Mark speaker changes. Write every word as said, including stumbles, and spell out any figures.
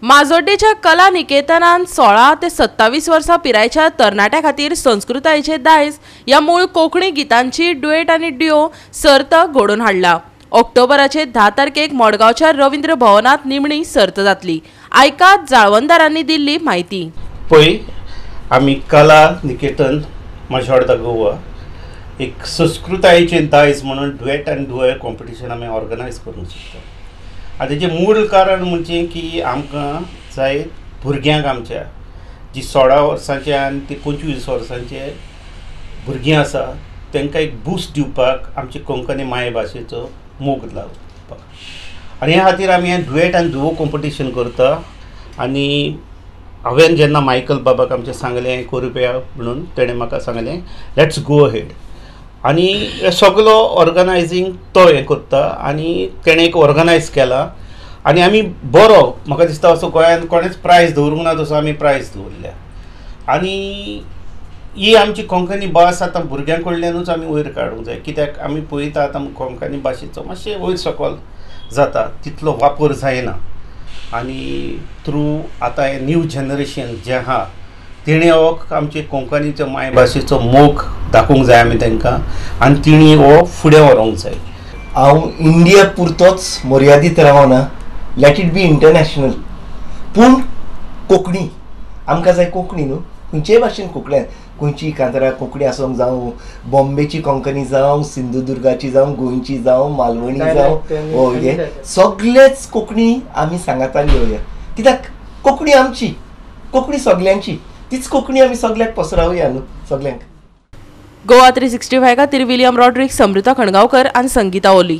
Speaker 1: माजोड्डेच्या कला निकेतनान सोळा ते सत्तावीस वर्सां पिरायेच्या तरणाट्या खातीर संस्कृतायेचे दायज ह्या मूळ कोंकणी गितांची डुएट आनी ड्युओ सर्त घडोवन हाडला. ऑक्टोबराचे धा तारखेक मडगांवच्या रवींद्र भवनांत निमणी सर्त जातली. आयकात जाळवणदारांनी दिल्ली म्हायती.
Speaker 2: पळय, आमी कला निकेतन माजोड्डा गोवा एक संस्कृतायेचे दायज म्हणून डुएट आनी डुओ कॉम्पिटिशन आमी ऑर्गनायज करूंक सोदता. आनी तेजें मूळ कारण म्हणजे की आमकां जाय भुरग्यांक आमच्या जी सोळा वर्सांचे आनी ती पंचवीस वर्सांचे भुरगीं आसा तांकां एक बूस्ट दिवपाक आमची कोंकणी मायभाशेचो मोग लावपाक. आनी ह्या खातीर आमी हें डुएट आनी डुओ कॉम्पिटिशन करता. आनी हांवें जेन्ना मायकल बाबाक आमचें सांगलें करुया म्हणून, तेणें म्हाका सांगलें let's go ahead. आनी हे सगलो ऑर्गनायजींग तो हें करता आनी तेणें एक ऑर्गनायज केला आनी आमी बरो म्हाका दिसता असो गोंयांत कोणेंच प्रायज दवरूंक ना तसो आमी प्रायज दवरल्या. आनी ही आमची कोंकणी भास आतां भुरग्यां कडल्यानूच आमी वयर काडूंक जाय, कित्याक आमी पळयता आतां कोंकणी भाशेचो मातशें वयर सकयल जाता, तितलो वापर जायना. आनी थ्रू आतां हें न्यू जनरेशन जें आहा तेणें हो आमचे कोंकणीचो मायभाशेचो मोग दाखोवंक जाय आमी तांकां आनी तिणी हो फुडें व्हरोंक जाय.
Speaker 3: हांव इंडिया पुरतोच मर्यादीत रावना, let it be international. पूण कोंकणी आमकां जाय, कोंकणी न्हू खंयचेय भाशेन कोंकणी, खंयची कांतारा कोंकणी आसूंक जावं, बॉम्बेची कोंकणी जावं, सिंधुदुर्गाची जावं, गोंयची जावं, मालवणी जावं, हे सगळेच कोंकणी आमी सांगातान घेवया. कित्याक कोंकणी आमची, कोंकणी सगल्यांची, तीच कोंकणी आमी सगळ्याक पसरावया न्हू सगल्यांक.
Speaker 1: गोवा थ्री सिक्स्टी फाय खातीर विलियम रॉड्रिक्स, समृता खणगांवकर आनी संगीता ओली.